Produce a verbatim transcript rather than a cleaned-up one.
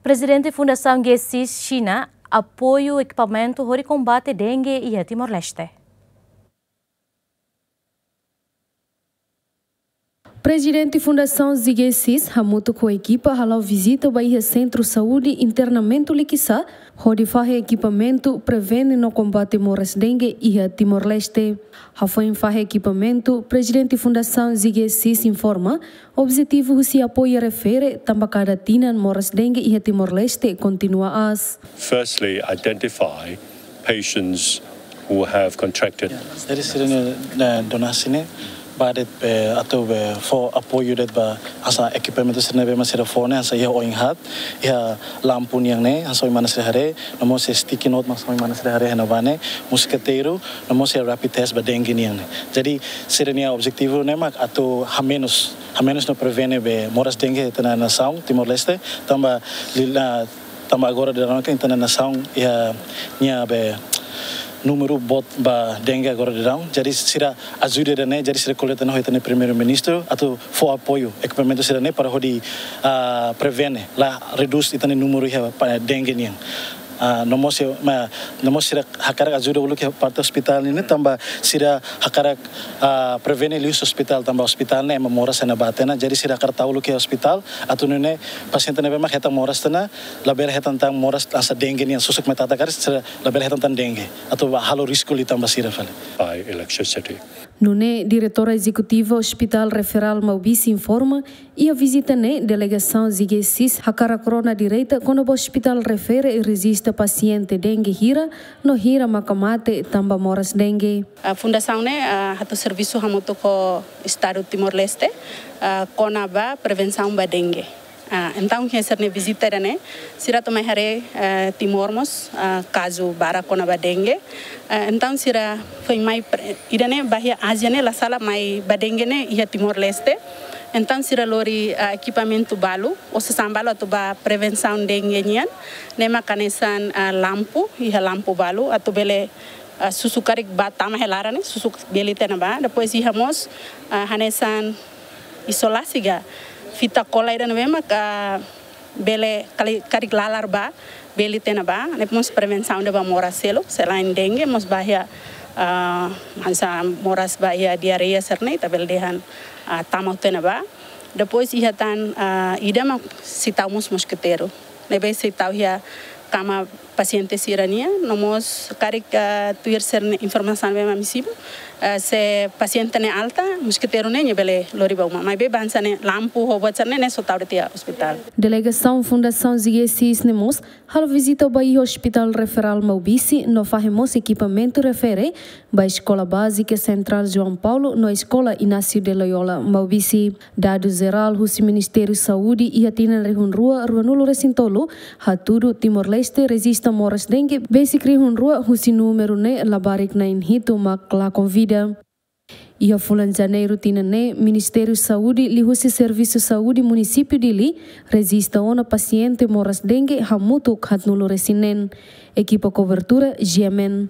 Prezidente Fundasaun G seis Xina apoiu ekipamentu hodi kombate dengue iha Timor-Leste. Prezidente Fundasaun G seis hamutuk ho ekipa hala'o vizita ba iha Sentru Saúde Internamentu Likisá, hodi fahe ekipamentu prevene no kombate moras dengue iha Timor-Leste. Hafoin fahe ekipamentu, Prezidente Fundasaun G seis informa, objetivu husi apoiu refere tanba kada tinan moras dengue iha Timor-Leste kontinua aas. Firstly, identify patients who have contracted. Jadi sira-nia, eh, donasi ne'e ba de'it, eh, atu, eh, fó apoiu de'it ba hanesan ekipamentu sira ne'ebé mak sira fó ne'e, hanesan iha oin haat, iha lampu nian ne'e, hanesan ohin mana sira haree, no mós sticky note mak hanesan ohin mana sira haree iha ne'ebá ne'e, moskiteiru, no mós iha rapid test ba dengue nian ne'e. Jadi sira-nia objetivu ne'e mak atu hamenus, hamenus no prevene be moras dengue iha ita-nia nasaun Timor-Leste, tanba lila, tanba agora daudaun ita-nia nasaun iha nia be númeru boot ba dengue agora daudaun. Jadi sira ajuda ida-ne'e, jadi sira ko'alia tiha ona ho ita-nia Primeiru-Ministru atu fó apoiu ekipamentu sira-ne'e para hodi, ah, prevene, la redús ita-nia númeru iha pa dengue nian. Ah, no mós, ma, no mós sira hakarak ajuda uluk iha parte ospitál nian ne'e, tanba sira hakarak, ah, prevene liu husi ospitál, tanba ospitál ne'e ema moras iha ne'ebá tiha ona, jadi sira hakarak tau uluk iha ospitál atu nune'e pasiente ne'ebé mak hetan moras tiha ona labele hetan tan moras hanesan dengue nian, susuk mai tata karik sira labele hetan tan dengue, atu ba halo risku liután ba sira fali. By electricity. Nune'e, Diretora Ezekutiva Hospital Referral Maubisse informa, iha vizita ne'e delegasaun G seis hakarak rona direta kona-ba ospitál refere rejista pasiente dengue hira no hira maka mate tanba moras dengue. Ah, Fundasaun ne'e, ah, hato'o servisu hamutuk ho Estadu Timor-Leste, ah, kona-ba prevensaun ba dengue. Ah, entaun, iha sira-nia vizita ida-ne'e, sira atu mai haree, eh, Timor mós, ah, kazu barak kona-ba dengue. Eh, entaun sira foin mai pre-, ida-ne'e ba iha Ázia ne'e la sala, mai ba dengue ne'e iha Timor-Leste. Entaun sira lori, ah, ekipamentu balu, ou sasán balu atu ba prevensaun dengue nian. Ne'e mak hanesan, ah, lampu, iha lampu balu atu bele, ah, susuk karik ba tama iha laran ne'e, susuk bele tiha ona ba. Depois iha mós, ah, hanesan isolasi ka fita kola ida ne'ebé mak bele kali-, karik lalar ba, bele tiha ona ba, ne'e mós prevensaun ida ba moras seluk, selain dengue, mós ba iha, ah, hanesan moras ba iha diarreia sira-ne'e, ita bele dehan, ah, tama tiha ona ba. Depois iha tan, ah, ida mak sei tau mós moskiteiru. Ne'ebé sei tau iha kama pasiente sira-nian, no mós karik, ah, tuir sira-nia informasaun ne'ebé mak ami simu, ah, se pasiente ne'e alta, moskiteiru ne'e nia bele lori ba uma. Maibé hanesan ne'e lampu ho buat sira-ne'e, ne'e só tau de'it iha ospitál. Delegasaun Fundasaun G seis ne'e mós halo vizita ba iha Hospital Referral Maubisse, no fahe mós ekipamentu refere ba Eskola Bázika Sentrál João Paulo no Eskola Inácio de Loyola Maubisse. Dadus jerál husi Ministériu Saúde iha tinan rihun rua ruanulu resin tolu hatudu Timor-Leste rejista moras dengue besik rihun rua, husi númeru ne'e labarik na'in hitu mak lakon vida. Iha fulan Janeiru tinan ne'e, Ministériu Saúde liuhusi Servisu Saúde Munisípiu Dili rejista ona pasiente moras dengue hamutuk haatnulu resin neen. Ekipa kobertura G M N.